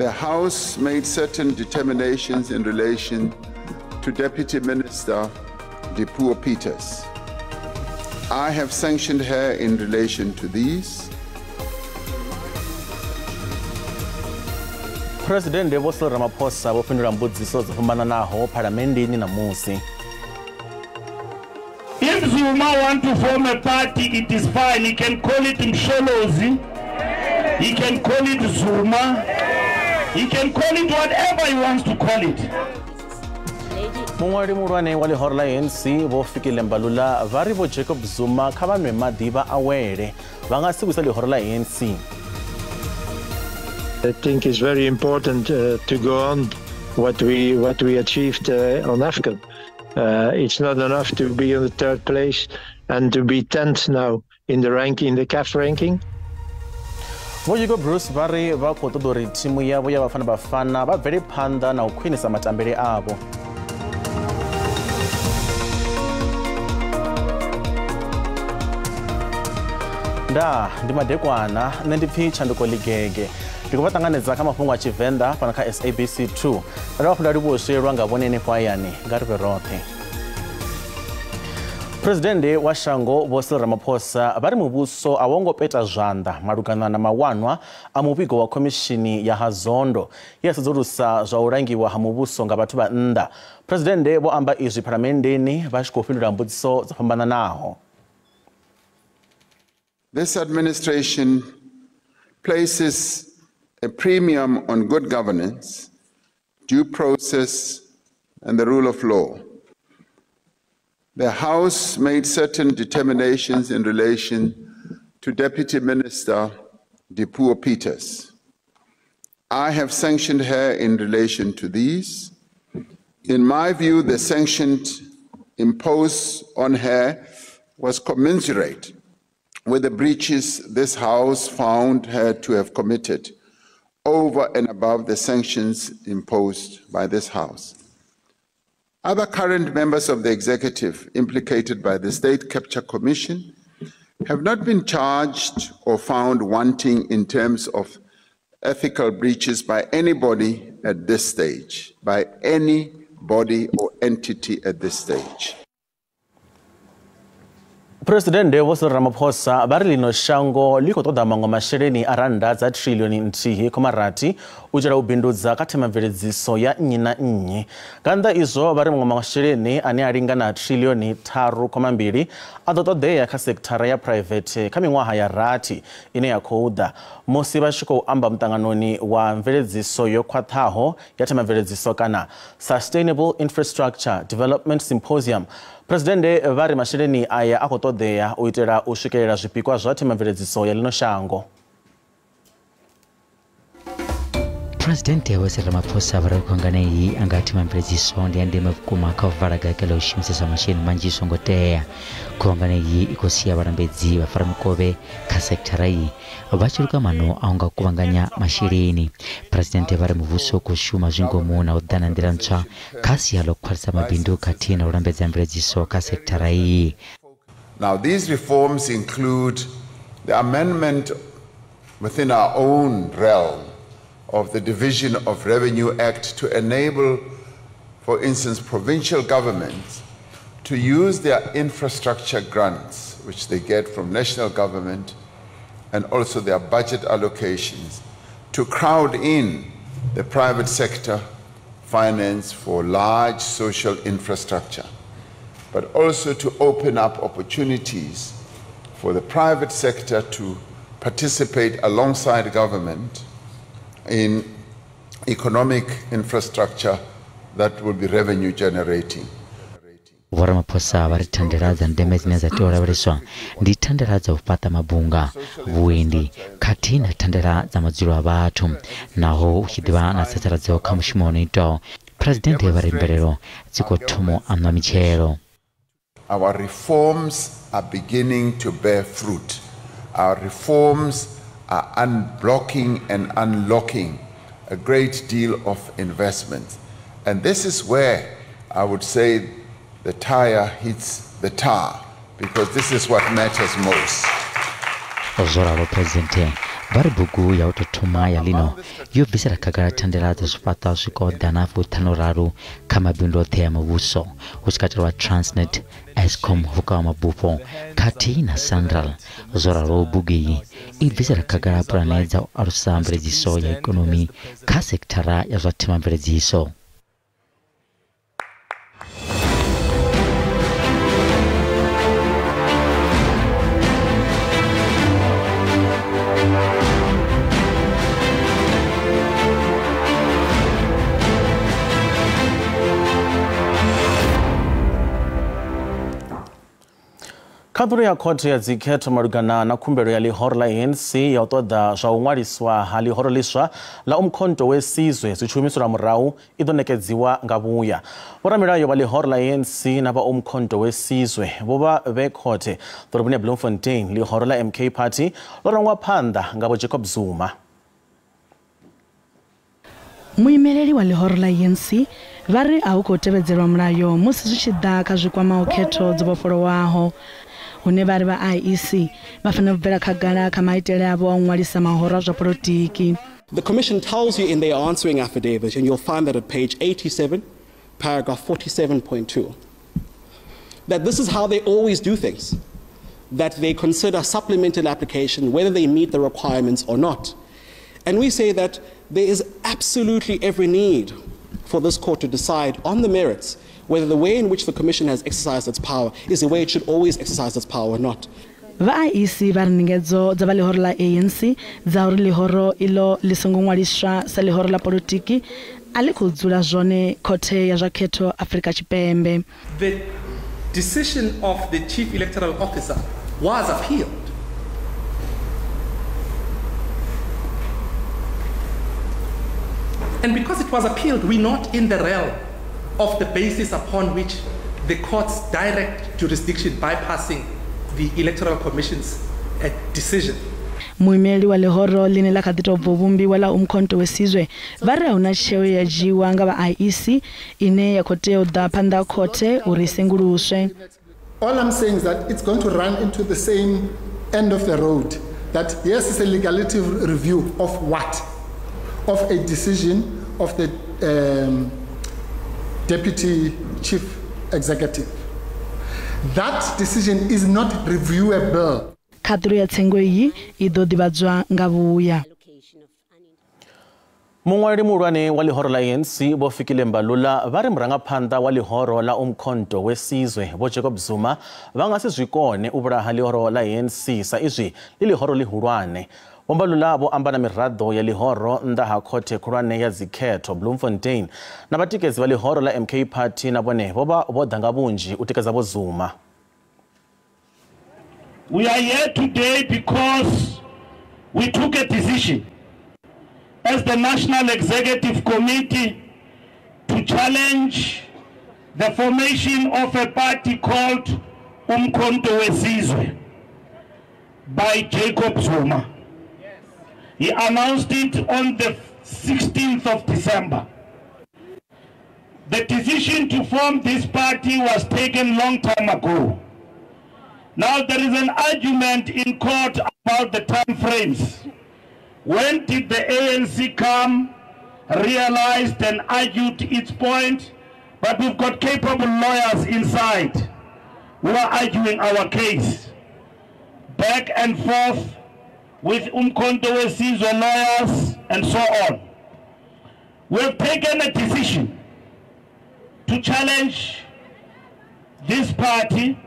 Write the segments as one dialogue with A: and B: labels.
A: The House made certain determinations in relation to Deputy Minister Dipuo Peters. I have sanctioned her in relation to these.
B: President Vho Cyril Ramaphosa vho fhindula mbudziso dzo fhambananaho phalamenndeni ṋamusi.
C: If Zuma want to form a party, it is fine. He can call it Msholozi. He can call it Zuma. He can call it whatever he wants to call it.
B: Muṅwali muhulwane wa ḽihoro ḽa ANC Vho Fikile Mbalula vha ri Vho Jacob Zuma kha vha nwe maḓi vha awele, vha nga si vhuise ḽihoro ḽa ANC.
D: I think it's very important to go on what we achieved on AFCON. It's not enough to be in the third place and to be 10th now in the ranking, in the CAF ranking.
B: Vho Hugo Broos vha ri vha khou ṱoḓa uri thimu yavho ya Bafana Bafana vha bvele phanḓa na u khwinisa matambele avho. Nda ndi madekwana, nṋe ndi pfi Tshanduko Ligege. Ndi khou vha ṱanganedza kha mafhungo a Tshivenḓa fhano kha SABC 2. Nda dovha hafhu nda livhuwa u swielwa nga vhone henefho hayani, nga ri vhe roṱhe. Presidennde wa shango Vho Cyril Ramaphosa vha ri muvhuso a wo ngo peta zwanḓa malugana na mawanwa a muvhigo wa khomishini ya ha Zondo ye ya sedzulusa zwa u langiwa ha muvhuso nga vhathu vha nnḓa. Presidennde vho amba izwi phalamenndeni vha tshi khou fhindula mbudziso dzo fhambananaho.
A: This administration places a premium on good governance, due process, and the rule of law. The House made certain determinations in relation to Deputy Minister Dipuo Peters. I have sanctioned her in relation to these. In my view, the sanction imposed on her was commensurate with the breaches this House found her to have committed over and above the sanctions imposed by this House. Other current members of the executive implicated by the State Capture Commission have not been charged or found wanting in terms of ethical breaches by anybody at this stage, by any body or entity at this stage.
B: Presidennde Vho Cyril Ramaphosa vha ri ḽino shango ḽi khou ṱoḓa maṅwe masheleni a rannda dza trillioni 1.6 u itela u bindudza kha themamveledziso ya nnyi na nnyi. Nga nnḓa izwo vha ri maṅwe masheleni ane a lingana trillioni 3.2 a ḓo ṱoḓea kha sekithara ya private kha miṅwaha ya rathi ine ya khou ḓa. Musi vha tshi khou amba muṱanganoni wa mveledziso yo khwaṱhaho ya themamveledziso kana Sustainable Infrastructure Development Symposium, Presidennde vha ri masheleni aya a khou ṱoḓea u itela u swikelela zwipikwa zwa themamveledziso ya ḽino shango.
E: Presidennde Vho Cyril Ramaphosa vha ri khungano iyi anga themamveledziso ndi ya ndeme vhukuma kha u vala gake ḽa u shumisesa masheleni manzhi zwi songo tea. Khuvhangano iyi i khou sia vhalambedzi vha faramikovhe kha sekithara iyi vha tshi luka maano a u nga kuvhanganya masheleni. Presidennde vha ri muvhuso u khou shuma zwi ngomu na u ḓa na nḓila ntswa kha sia ḽa u khwaṱhisa mabindu khathihi na u lambedza mveledziso kha sekithara iyi.
A: Now these reforms include the amendment within our own realm of the Division of Revenue Act to enable, for instance, provincial governments to use their infrastructure grants, which they get from national government, and also their budget allocations, to crowd in the private sector finance for large social infrastructure, but also to open up opportunities for the private sector to participate alongside government in economic infrastructure that will be revenue generating.
E: Vho Ramaphosa vha ri thandela dza ndeme dzine dza tea u lavheleswa ndi thandela dza u fhaṱa mabunga, vhuendi khathihi na thandela dza madzulo a vhathu. Naho hu tshi ḓivha na tsatsaladzo kha mushumo wo no itwaho, Presidennde vha ri mvelelo dzi khou thoma u aṋwa mitshelo.
A: Our reforms are beginning to bear fruit. Our reforms are unblocking and unlocking a great deal of investment. And this is where I would say the tire hits the tar, because this is what matters most.
E: Zwo ralo, Presidennde Vha ri bugu ya u tou thoma ya lino yo bvisela khagala thandela dza zwifhaṱo swikaho 553 kha mabindu oṱhe a muvhuso, hu tshi katelwa Transnet, Eskom, vhukavha mabufho khathihi na Sanral. Zwo ralo bugu iyi i bvisela khagala pulane dza u alusa mveledziso ya ikonomi kha sekithara ya zwa themamveledziso.
B: Khaṱulo ya khothe ya dzikhetho malugana na khumbelo ya ḽihoro ḽa ANC ya u ṱoḓa zwa u ṅwaliswa ha ḽihoro ḽiswa ḽa Umkhonto we Sizwe zwi tshi humiselwa murahu i ḓo ṋekedziwa nga vhuya. Vhoramilayo vha ḽihoro ḽa ANC na vha Umkhonto we Sizwe vho vha vhe khothe ḓoroboni ya Bloemfontein. Ḽihoro ḽa MK Party ḽo rangwa phanḓa nga vho Jacob Zuma.
F: Muimeleli wa ḽihoro ḽa ANC vha ri a hu khou tevhedzelwa mulayo musi zwi tshi ḓa kha zwikwamaho khetho dzo vhofholowaho, hune vha ri vha IEC vha fanela u bvela khagala kha maitele avho a u ṅwalisa mahoro a zwa polotiki.
G: The Commission tells you in their answering affidavit, and you'll find that at page 87, paragraph 47.2, that this is how they always do things, that they consider supplemental application whether they meet the requirements or not. And we say that there is absolutely every need for this court to decide on the merits whether the way in which the Commission has exercised its power is the way it should always exercise its power or not.
F: Vha IEC vha ri ndingedzo dza vha ḽihoro ḽa ANC dza uri ḽihoro iḽo ḽi songo ṅwaliswa sa ḽihoro ḽa polotiki a ḽi khou dzula zwone khothe ya zwa khetho Afrika Tshipembe.
H: The decision of the Chief Electoral Officer was appealed. And because it was appealed, we're not in the realm of the basis upon which the court's direct jurisdiction bypassing the Electoral Commission's decision.
F: Muimeli wa ḽihoro ḽine ḽa kha ḓi tou bva u vhumbiwa ḽa Umkhonto we Sizwe vha ri a huna tsheo ya dzhiiwa nga vha IEC ine ya khou tea u ḓa phanḓa ha khothe uri i senguluswe.
I: All I'm saying is that it's going to run into the same end of the road. That yes, it's a legality review of what? Of a decision of the Deputy Chief Executive. That decision is not reviewable.
F: Khaṱulo ya tsengo iyi i ḓo ḓivhadzwa nga vhuya.
B: Muṅwaleli muhulwane wa ḽihoro ḽa ANC Vho Fikile Mbalula vha ri murangaphanḓa wa ḽihoro ḽa Umkhonto we Sizwe Vho Jacob Zuma vha nga si zwi kone u vhulaha ḽihoro ḽa ANC sa izwi ḽi ḽihoro ḽihulwane. Vho Mbalula vho amba na miraḓo ya ḽihoro nnḓa ha khothe khulwane ya dzikhetho Bloemfontein na vhatikedzi vha ḽihoro ḽa MK Party na vhone vho vha vho ḓa nga vhunzhi u tikedza Vho Zuma.
C: We are here today because we took a decision as the National Executive Committee to challenge the formation of a party called Umkhonto we Sizwe by Jacob Zuma. He announced it on the 16th of December. The decision to form this party was taken long time ago. Now there is an argument in court about the time frames. When did the ANC come, realized and argued its point? But we've got capable lawyers inside who are arguing our case. Back and forth with Umkhonto we Sizwe lawyers and so on. We have taken a decision to challenge this party,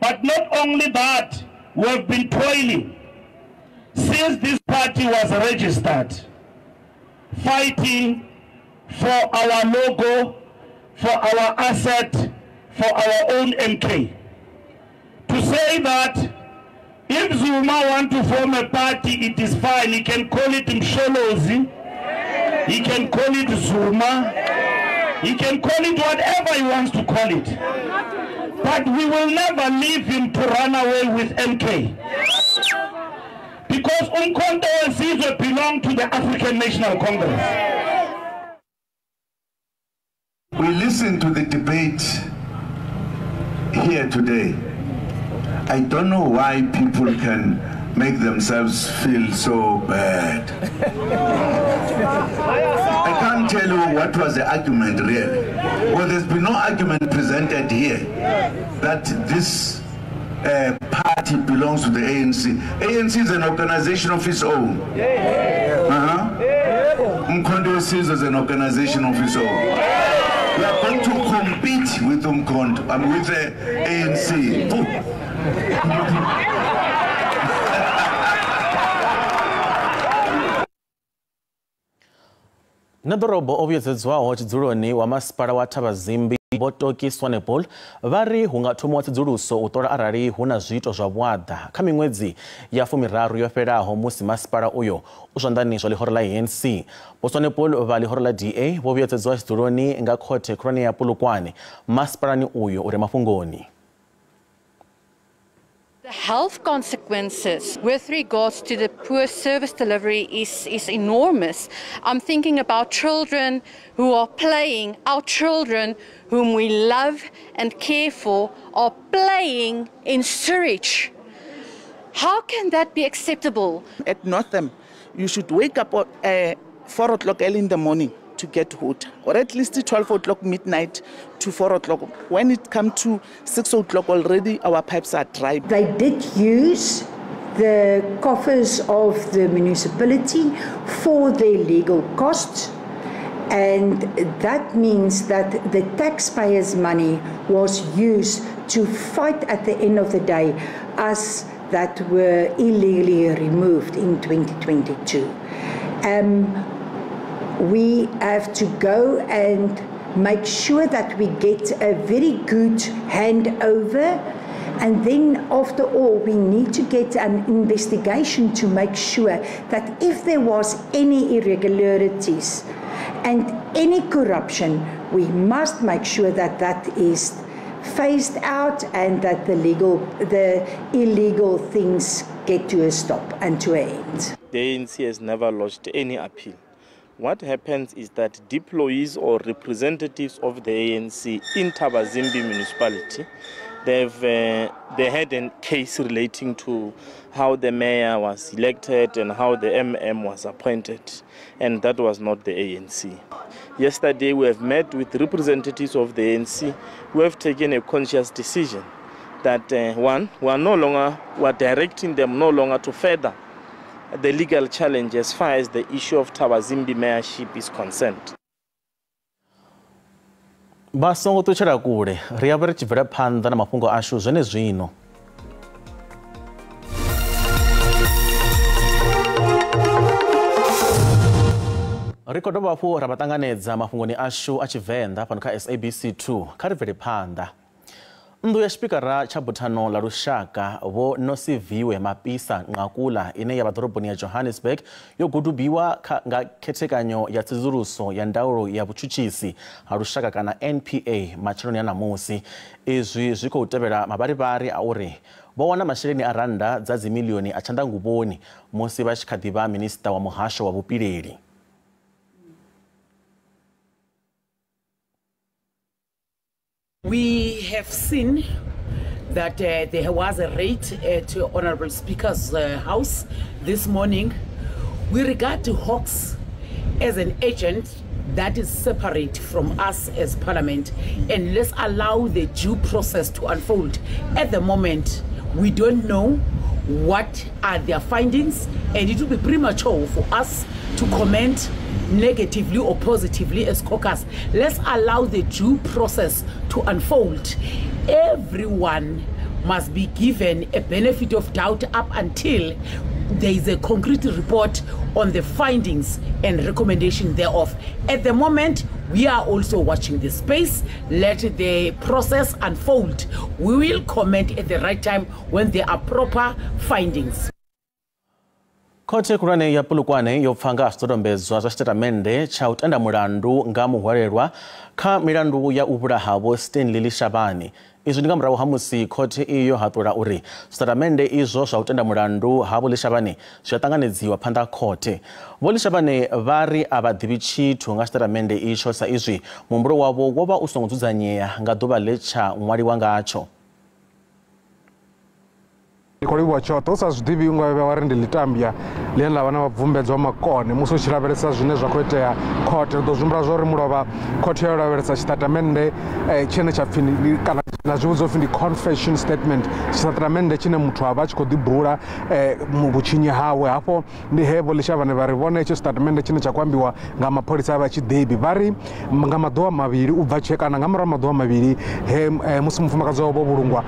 C: but not only that, we have been toiling since this party was registered, fighting for our logo, for our asset, for our own MK. To say that if Zuma wants to form a party, it is fine. He can call it Msholozi. He can call it Zuma. He can call it whatever he wants to call it. But we will never leave him to run away with MK. Because Umkhonto we Sizwe belong to the African National Congress.
A: We listened to the debate here today. I don't know why people can
J: make themselves feel so bad. I can't tell you what was the argument really. Well, there's been no argument presented here that this party belongs to the ANC. ANC is an organization of its own. Umkhonto weSizwe is an organization of its own. We are going to compete with Umkhonto, with the ANC.
B: Na ḓorobo o vhuyedzedzwaho tshidzuloni wa masipala wa Thabazimbi Vho Toki Swanepoel vha ri hu nga thomiwa tsedzuluso u ṱola arali hu na zwiito zwa vhuaḓa kha miṅwedzi ya 30 yo fhelaho musi masipala uyo u zwanḓani zwa ḽihoro ḽa ANC. Vho Swanepoel vha ḽihoro ḽa DA vho vhuyedzedzwa tshidzuloni nga khothe khulwane ya Polokwane masipalani uyo u re mafhungoni.
K: The health consequences with regards to the poor service delivery is enormous. I'm thinking about children who are playing, our children whom we love and care for are playing in sewage. How can that be acceptable?
L: At Northam, you should wake up at 4 o'clock early in the morning to get water, or at least 12 o'clock midnight to 4 o'clock. When it comes to 6 o'clock already, our pipes are dry.
M: They did use the coffers of the municipality for their legal costs, and that means that the taxpayers' money was used to fight at the end of the day us that were illegally removed in 2022. We have to go and make sure that we get a very good handover, and then after all we need to get an investigation to make sure that if there was any irregularities and any corruption, we must make sure that that is phased out and that the illegal things get to a stop and to an end.
N: The ANC has never lodged any appeal. What happens is that deployees or representatives of the ANC in Thabazimbi municipality, they had a case relating to how the mayor was elected and how the MM was appointed, and that was not the ANC. Yesterday we have met with representatives of the ANC who have taken a conscious decision that one, we are directing them no longer to further the legal challenge as far as the issue of Thabazimbi mayorship is concerned.
B: Vha songo ṱutshela kule, ri ya vha ri tshi bvela phanḓa na mafhungo ashu zwenezwino. Ri khou dovha hafhu ra vha ṱanganedza mafhungoni ashu a Tshivenḓa fhano kha SABC 2. Kha ri bvele phanḓa. Nnḓu ya tshipikara tsha buthano ḽa lushaka Vho Nosiviwe Mapisa Nqakula ine ya vha ḓoroboni ya Johannesburg yo gudubiwa nga khethekanyo ya tsedzuluso ya ndaulo ya vhutshutshisi ha lushaka kana NPA matsheloni a ṋamusi. Izwi zwi khou tevhela mavharivhari a uri vho wana masheleni a rannda dza dzimilioni a tshanḓanguvhoni musi vha tshi kha ḓi vha minisiṱa wa muhasho wa vhupileli.
O: We have seen that there was a raid at Honorable Speaker's house this morning. We regard the Hawks as an agent that is separate from us as Parliament, and let's allow the due process to unfold. At the moment, we don't know what are their findings, and it will be premature for us to comment negatively or positively as caucus. Let's allow the due process to unfold. Everyone must be given a benefit of doubt up until there is a concrete report on the findings and recommendation thereof. At the moment, we are also watching the space. Let the process unfold. We will comment at the right time when there are proper findings.
B: Khothe khulwane ya Polokwane yo pfa nga zwidodombedzwa zwa tshitatamennde tsha u tenda mulandu nga muhwalelwa kha milandu ya u vhulaha Vho Stanley Leshabane. Izwi ndi nga murahu ha musi khothe iyo haṱula uri zwitatamennde izwo zwa u tenda mulandu ha Vho Leshabane zwi a ṱanganedziwa phanḓa ha khothe. Vho Leshabane vha ri a vha ḓivhi tshithu nga tshitatamennde itsho sa izwi muhumbulo wavho wo vha u songo dzudzanyea nga ḓuvha ḽe tsha ṅwaliwa ngatsho.
P: Ndi khou livhuwa tshoṱhe u sa zwi ḓivhi unga vhe wa ri ndi ḽitambya ḽine ḽa vha na vhabvumbedzwa makone musi u tshi lavhelesa zwine zwa khou itea khothe. Ri ḓo zwi humbula zwa uri mulovha khothe yo lavhelesa tshitatamennde tshine tsha pfhi kana na zwi vhidzwa upfhi ndi confession statement, tshitatamennde tshine muthu a vha a tshi khou ḓi bula vhutshinyi hawe. Hafho ndi he Vho Leshavhane vha ri vhone hetsho tshitatamennde tshine tsha khou ambiwa nga mapholisa a vha tshi ḓivhi. Vha ri nga maḓuvha mavhili u bva tshe kana nga murahu maḓuvha mavhili he musi mufumakadzi wavho vho vhulungwa,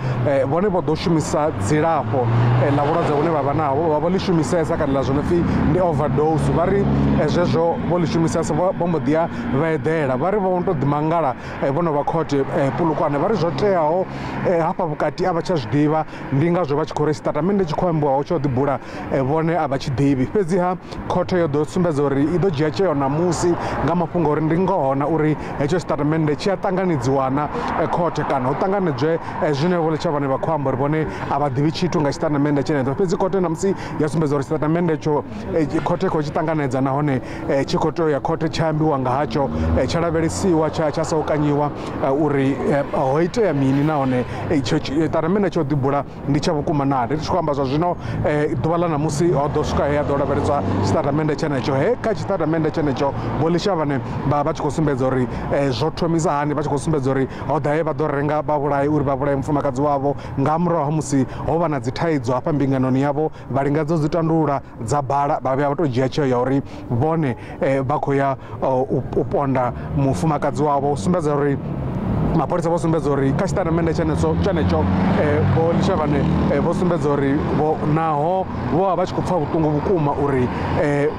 P: vhone vho ḓo shumisa dzilafho ḽa vhulwadze vhune vha vha naho, vha vho ḽi shumisesa kana ḽa zwo no pfhi ndi overdose. Vha ri zwezwo vho ḽi shumisesa vho mbo ḓi ya vha eḓela. Vha ri vho to ḓi mangala vho no vha khothe Polokwane. Vha ri zwo teaho hafha vhukati a vha tsha zwi ḓivha, ndi ngazwo vha tshi khou ri tshitatamennde tshi khou ambiwaho tsho ḓi bula vhone a vha tshi ḓivhi. Fhedziha khothe yo ḓo sumbedza uri i ḓo dzhia tsheo ṋamusi nga mafhungo uri ndi ngoho na uri hetsho tshitatamennde tshi a ṱanganedziwa na khothe kana hu ṱanganedzwe zwine Vho Leshavhane vha khou amba uri vhone a vha ḓivhi tshithu nga tshitatamennde tshenetsho. Fhedzi khothe ṋamusi ya sumbedza uri tshitatamennde tsho khothe khou tshi ṱanganedza nahone tshi khou tea u ya khothe tsha ambiwa nga hatsho, tsha lavhelesiwa tsha saukanyiwa uri ho itea mini nahone tshitatamennde tsho ḓibula ndi tsha vhukuma naa. Ndi tshi khou amba zwa zwino ḓuvha ḽa ṋamusi ho ḓo swika he ya ḓo lavheleswa tshitatamennde tshenetsho. He kha tshitatamennde tshenetsho Vho Leshavhane vha vha tshi khou sumbedza uri zwo thomisa hani, vha tshi khou sumbedza uri ho ḓa he vha ḓo renga vha vhulaye uri vha vhulaye mufumakadzi wavho nga murahu ha musi ho vha na dzi thaidzo hafha mbinganoni yavho, vha lingedza u dzi tandulula dza bala, vha vhuya vha tou dzhia tsheo ya uri vhone vha khou ya u ponda mufumakadzi wavho. U sumbedza uri mapholisa vho sumbedza uri kha tshitatamennde tshenetsho Vho Leshavhane vho sumbedza uri vho naho vho vha vha tshi khou pfa vhuṱungu vhukuma uri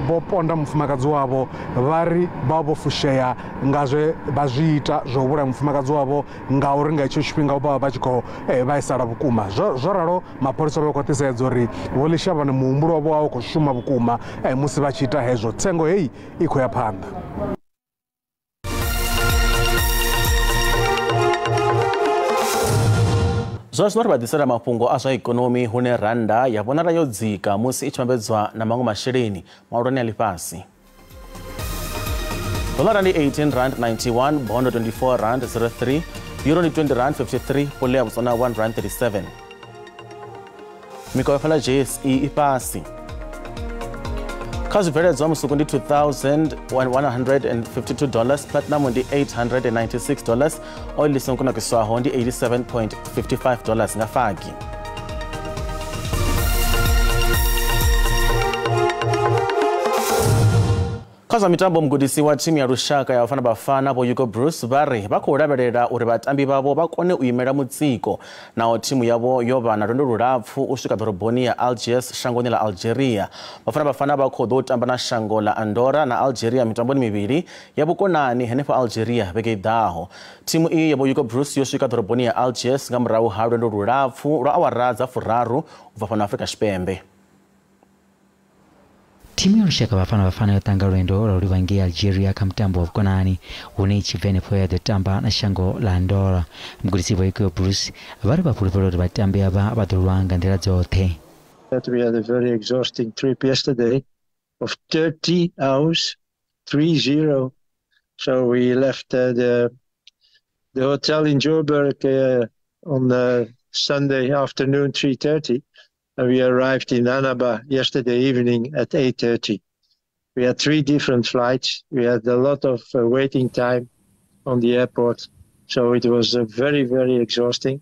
P: vho ponda mufumakadzi wavho, vha ri vha vho fushea nga zwe vha zwi ita zwo vhulaya mufumakadzi wavho ngauri nga hetsho tshifhinga vha vha tshi khou vhaisala vhukuma. Zwo ralo mapholisa vha khwaṱhisedza uri Vho Leshavhane muhumbulo wavho wa u khou shuma vhukuma musi vha tshi ita hezwo. Tsengo heyi i khou ya phanḓa.
B: Zwa zwino ri vha ḓisela mafhungo a zwa ikonomi hune randa ya vhonala yo dzika musi i tshi vhambedzwa na maṅwe masheleni mahulwane a ḽifhasi. Dolara ndi 18.91 rand, bondo 24 rand 03, euro ndi 20 rand 53, pole ya Botswana 1 rand 37. Mikovhe fhala JSE i fhasi. Kha zwibveledzwa musuku ndi $2,152, platinum ndi $896, oil i songo kunakiswaho ndi $87.55 nga fagi. Kha zwa mitambo, mugudisi wa thimu ya lushaka ya Bafana Bafana Vho Hugo Broos vha ri vha khou lavhelela uri vhatambi vhavho vha kone u imela mutsiko naho thimu yavho yo vha na lwendo lulapfu u swika ḓoroboni ya Algiers shangoni ḽa Algeria. Bafana Bafana vha khou ḓo tamba na shango ḽa Andorra na Algeria mitamboni mivhili ya vhukonani henefho Algeria vhege i ḓaho. Thimu iyi ya Vho Hugo Broos yo swika ḓoroboni ya Algiers nga murahu ha lwendo lulapfu lwa awara dza 3 u bva fhano Afrika Tshipembe.
E: Thimu ya lushaka Bafana Bafana yo tanga lwendo lwa u livha ngei Algeria kha mutambo wa vhukonani hune i tshi bva henefho ya ḓo tamba na shango ḽa Andorra. Mugudisi Vho Hugo Broos vha ri vha fhulufhela uri vhatambi avha vha ḓo lwa nga nḓila dzoṱhe.
D: That we had a very exhausting trip yesterday of 30 hours, 3-0. So we left the hotel in Joburg on Sunday afternoon, 3:30. And we arrived in Annaba yesterday evening at 8:30. We had 3 different flights. We had a lot of waiting time on the airport. So it was very, very exhausting.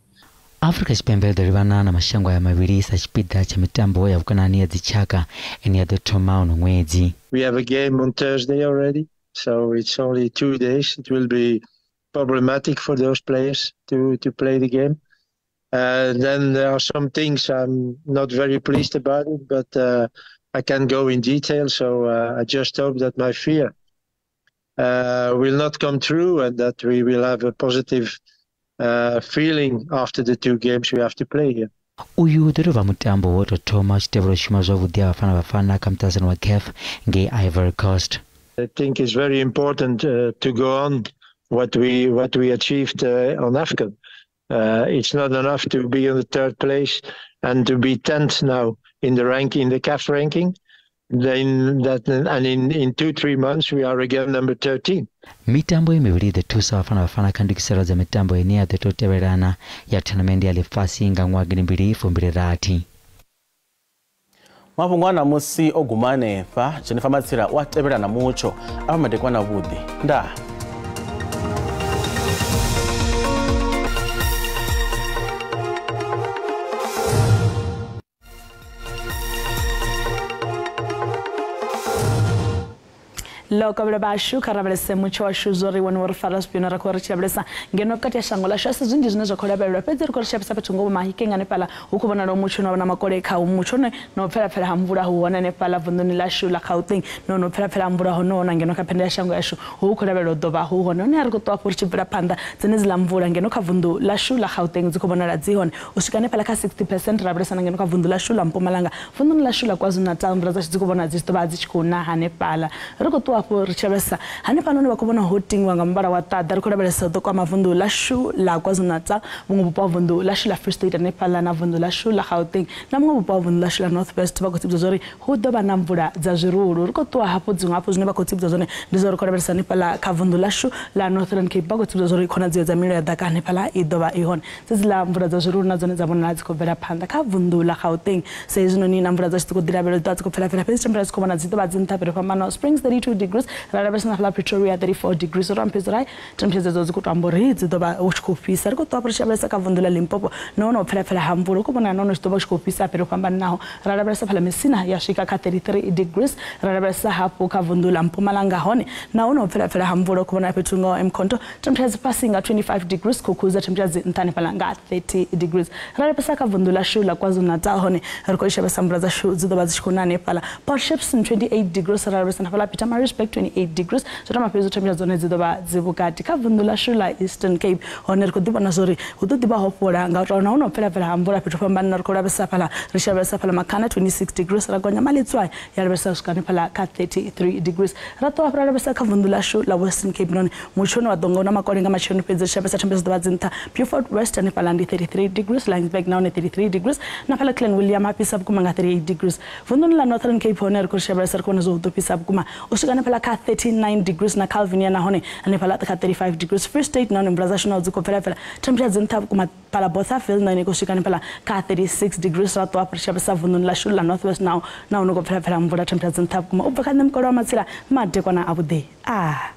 E: Afrika Tshipembe ḓo livhana na mashango aya mavhili sa tshipiḓa tsha mitambo ya vhukonani ya dzitshaka ine ya ḓo thoma uno ṅwedzi.
D: We have a game on Thursday already, so it's only 2 days. It will be problematic for those players to play the game. And then there are some things I'm not very pleased about it, but I can't go in detail. So I just hope that my fear will not come true and that we will have a positive feeling after the 2 games we have to play here.
E: Uyu ḓo tovha mutambo wo tou thoma u tshi tevhela u shuma zwavhuḓi ha Bafana Bafana kha muṱaṱisano wa CAF ngei Ivory Coast.
D: I think it's very important to go on what we achieved on AFCON. It's not enough to be in the 3rd place and to be 10th now in the ranking, in the CAF ranking. Then that, and in 2-3 months we are again number 13.
E: Mitambo iyi mivhili i ḓo thusa Bafana Bafana kha ndugiselo dza mitambo ine ya ḓo tou tevhelana ya tournament ya ḽifhasi nga ṅwaha 2026.
B: Mafhungo a ṋamusi o guma hanefha. Jennifer Matsila u a tevhela na mutsho afha madekwana avhuḓi. Ndaa.
F: Lokobelo vhashu kha lavhelese mutsho washu zwo ri wone wo ri fara zwifhio ra khou ri tshi lavhelesa ngeno vhukati ha shango ḽashu a si zwinzhi zwine zwa khou lavhelelwa, fhedzi ri khou ri tshi lavhelesa fhethu ngoho Mahikeng hanefhaḽa hu khou vhonala mutsho no vha na makole kha mutsho ne no pfelapfela ha mvula hu hone hanefhaḽa vunḓuni ḽashu ḽa Gauteng no pfelapfela ha mvula hono na ngeno kha phenda ya shango yashu hu khou lavhelelwa u ḓo vha hu hone. Hone a ri khou ṱwa hafhu ri tshi bvela phanḓa dzenedziḽa mvula ngeno kha vunḓu ḽashu ḽa Gauteng dzi khou vhonala dzi hone u swika hanefhaḽa kha 60% ra lavhelesa na ngeno kha vunḓu ḽashu ḽa Mpumalanga, vunḓuni ḽashu ḽa KwaZulu-Natal mvula dzashu dzi khou vhonala dzi tshi ḓo vha dzi tshi khou na hanefhaḽa. Ri khou ṱwa ri tshi lavhelesa hanefhanoni vha khou vhona ho tingwa nga muvhala wa ṱaḓa, ri khou lavhelesa u ḓo kwama vunḓu ḽashu ḽa KwaZulu-Natal, vhuṅwe vhupo ha vunḓu ḽashu ḽa Free State hanefhaḽa na vunḓu ḽashu ḽa Gauteng na muṅwe vhupo ha vunḓu ḽashu ḽa North West. Vha khou tsivhudza zwori hu ḓo vha na mvula dza zwirulu. Ri khou ṱuwa hafhu dziṅwe hafhu zwine vha khou tsivhudza zwone ndi zwa uri khou lavhelesa hanefhaḽa kha vunḓu ḽashu ḽa Northern Cape, vha khou tsivhudza zwori khonadzeo dza mililo ya ḓaka hanefhaḽa i ḓo vha i hone. Dzedziḽa mvula dza zwirulu na dzone dza vhonala dzi khou bvela phanḓa kha vunḓu ḽa Gauteng sa hezwinoni na mvula dzashu dzi khou ḓi lavhelelwa dzi khou pfelapfela, fhedzi temperature dzi khou vhona dzi ḓo vha dzi nṱha fhethu fhambanaho. Springs 32 degrees, ra lavhelesa na fhaḽa Pretoria 34 degrees. Ro amphedza uri temperature dzedzo dzi khou tou amba uri dzi ḓo vha hu tshi khou fhisa. Ri khou ṱwa ri tshi lavhelesa kha vunḓu ḽa Limpopo nahone u pfelapfela ha mvula hu khou vhonala nahone zwi ḓo vha hu tshi khou fhisa fhethu ho fhambananaho. Ra lavhelesa fhaḽa Messina ya swika kha 33 degrees, ra lavhelesa hafhu kha vunḓu ḽa Mpumalanga hone nahone u pfelapfela ha mvula hu khou vhonala fhethu ngaho Mkhonto temperature dzi fhasi nga 25 degrees, Khukhuza temperature dzi nṱha hanefhaḽa nga 30 degrees. Ra lavhelesa kha vunḓu ḽashu ḽa KwaZulu-Natal hone ri khou shavhesa mvula dzashu dzi ḓo vha dzi tshi khou na hanefhaḽa Port Shepstone 28 degrees, ra lavhelesa na fhaḽa Pietermaritzburg 28 degrees. Zwo tou mafhedzi temperature dzone dzi ḓo vha dzi vhukati. Kha vunḓu ḽashu ḽa Eastern Cape hone ri khou ḓi vhona zwori hu ḓo ḓi vha ho fhola nga u tou nahone u pfelapfela ha mvula fhethu fhambanana. Ri khou lavhelesa fhaḽa ri tshi lavhelesa fhaḽa Makhana 26 degrees, ra gonya Maletswai ya lavhelesa u swika hanefhaḽa kha 33 degrees. Ra ṱuwa hafhu ra lavhelesa kha vunḓu ḽashu ḽa Western Cape nahone mutsho une wa ḓo nga u na makole nga matsheloni, fhedzi ri tshi lavhelesa temperature dzi ḓo vha dzi nṱha. Beaufort West hanefhaḽa ndi 33 degrees, Laingsburg nahone 33 degrees, na fhaḽa Clan William ha fhisa vhukuma nga 38 degrees. Vunḓuni ḽa Northern Cape hone ri khou lavhelesa ri khou vhona zwo hu ḓo fhisa vhukuma u swika hanefhaḽa kha 39 degrees, na Calvinia nahone hanefhaḽa kha 35 degrees. Free State nahone mvula dzashu naho dzi khou pfelapfela temperature dzi nṱha vhukuma fhaḽa Bothaville nahone i khou swika hanefhaḽa kha 36 degrees. Ra ṱuwa ri tshi lavhelesa vunḓuni ḽashu ḽa North West nahone khou pfelapfela mvula temperature dzi nṱha vhukuma. U bva kha nṋe Mukolo wa Matsila, madekwana avhuḓi.